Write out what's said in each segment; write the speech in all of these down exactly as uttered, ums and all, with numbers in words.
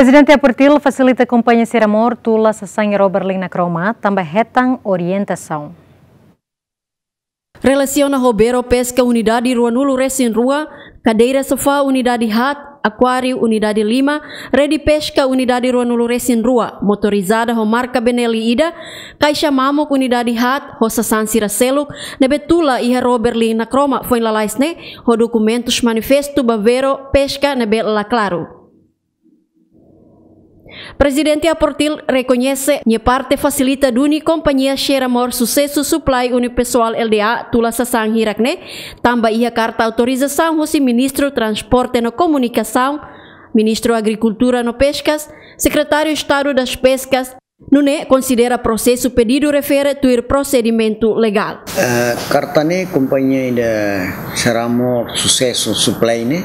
Prezidente Aportil fasilita kompañia Seramor tula sasán iha ró Berlin na Kroma, tanba hetan orientasaun. Relasiona ho Vero Peska Unidade ruanulu resin rua, kadeira sofá Unidade haat, akuáriu Unidade lima, rede peska Unidade ruanulu resin rua, motorizada ho marka Benelli ida, kaixa mamuk Unidade haat, ho sasán sira seluk, ne'ebé tula iha ró Berlin na Kroma foin lalais ne'e, ho dokumentus manifestu ba Vero Peska ne'ebé la klaru. Prezidente Aportil rekoñese nia parte fasilita duni kompañia Seramor Susesu Supply Unipessoal Lda tula sasán hirak ne'e, tanba iha karta autorizasaun husi Ministru Transporte no Komunikasaun, Ministru Agrikultura no Peskas, Sekretáriu Estadu das Peskas, nune'e konsidera prosesu pedidu refere tuir prosedimentu legál. Eh, karta ne'e kompañia ida Seramor Susesu Supply ne'e,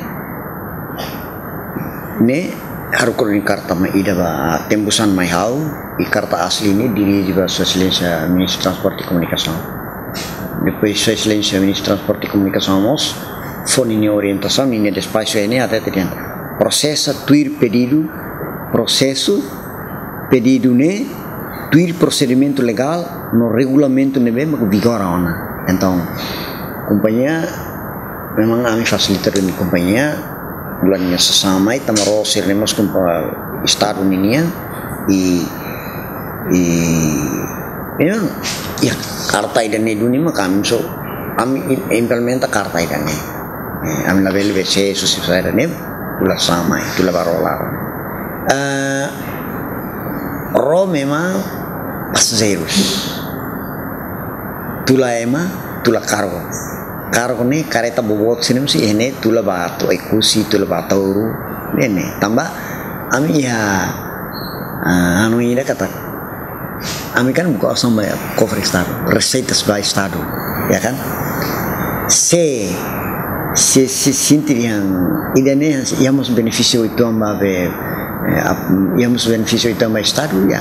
ne'e haruka duni karta mai ida ba tembusan mai ha'u, i karta asli ne'e dirije ba Sua Exelénsia Ministru Transporte i Komunikasaun. Depois Sua Exelénsia Ministru Transporte i Komunikasaun mós fó ninia orientasaun, ninia despaxu ne'e hatete dehan prosesa tuir pedidu, prosesu pedidu ne'e tuir prosedimentu legál no regulamentu ne'ebé mak vigora ona. Entaun, kompañia, memang ami fasilita duni kompañia, tula nia sasán mai, tanba ró sira-ne'e mós kompa-, Estadu ninian, i, i, memang, iha karta ida-ne'e duni mak ami só, ami im-, implementa karta ida-ne'e. Eh, ami labele be se susi saida ne'e, tula sasán mai, tula ba ró laran. Eh, ró memang pasajeirus. Tula ema, tula kargu. Kargu ne'e kareta boboot sira-ne'e mós iha ne'e tula ba atu Oekusi, tula ba Ataúru, ne'e ne'e. Tanba ami iha, ah, anu ida katak ami kan buka osan ba kofre Estadu, reseitas ba Estadu, ya kan? Se, se, se sente dehan ida-ne'e, iha mós benefísiu uitoan ba be, eh, ap-, iha mós benefísiu uitoan ba Estadu, ya.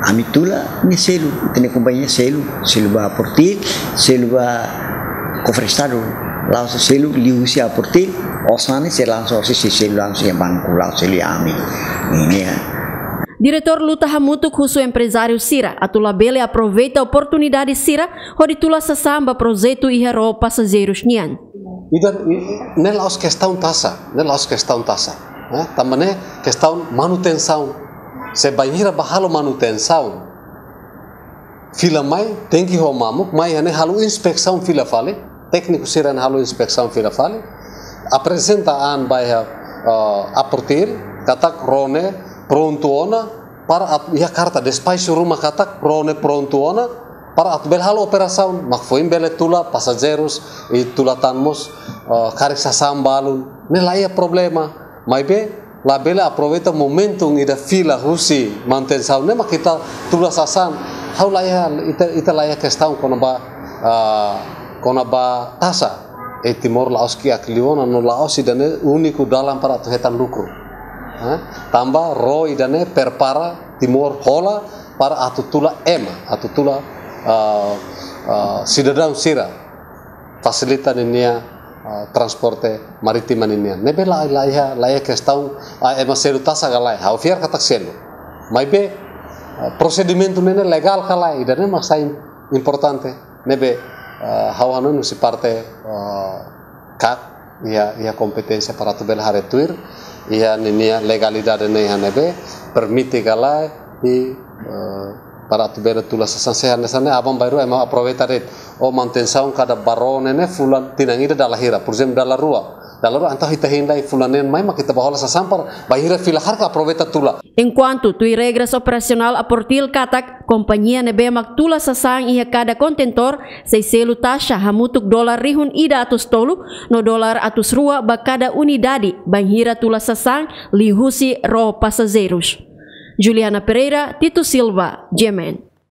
Ami tula, nia selu, ita-nia kompañia selu, selu ba Aportil, selu ba kofre Estadu, la'ós selu liuhusi Aportil, osan ne'e sei langsung, sei, sei selu langsung iha banku, la'ós selu iha ami. Ne'e, ne'e. Diretór luta hamutuk husu emprezáriu sira atu labele aproveita oportunidade sira hodi tula sasán ba projetu iha ró pasajeirus nian. Ida, i, ne'e la'ós kestaun taxa, ne'e la'ós kestaun taxa, eh? Tanba ne'e kestaun manutensaun. Se bainhira bá halo manutensaun, fila mai, tenke ho mamuk, mai iha ne'e halo inspesaun fila fali, tékniku sira-ne'e halo inspesaun fila fali, aprezenta an ba iha, eh, Aportil, katak ró ne'e prontu ona, para atu, iha karta despaxu ruma katak ró ne'e prontu ona, para atu bele halo operasaun, mak foin bele tula pasajeirus, i tula tan mós, eh, karik sasán balun, ne'e la iha problema, maibé, labele aproveita momentu ida fila husi manutensaun ne'e mak ita tula sasán. Ha'u la iha, ita, ita la iha kestaun kona-ba, ah, kona-ba taxa. I Timor la'ós kiak liu ona no la'ós ida-ne'e úniku dalan para atu hetan lukru. Ha? Tanba ró ida-ne'e prepara Timor hola para atu tula ema, atu tula, ah, ah, sidadaun sira. Fasilita ninia, ah, transporte marítima ninian. Ne'ebé la, la iha, la iha kestaun, ah, ema selu taxa ka lae. Ha'u fiar katak selu. Maibé, ah, prosedimentu ne'e legál ka lae, ida-ne'e mak sai im-, importante. Ne'ebé, ah, ha'u hanoin husi parte, ah, kak, iha, iha kompeténsia para atu bele haree tuir, iha ninia legalidade ne'e iha ne'ebé, permite ka lae, i, eh, para atu bele tula sasán, se hanesan ne'e aban-bainrua ema aproveita de'it. O manutensaun kada ba ró ne'e ne'e fulan tinan ida dala hira, por ezemplu, dala rua. Dala rua, entaun ita hein lai fulan neen mai mak ita bá hola sasán para bainhira fila karik aproveita tula. Enkuantu tuir regras operasionál Aportil katak, kompañia ne'ebé mak tula sasán iha kada kontentór, sei selu taxa hamutuk dolar rihun ida atus tolu, no dolar atus rua ba kada unidade, bainhira tula sasán liuhusi ró pasajeirus. Juliana Pereira, Tito Silva, G M N.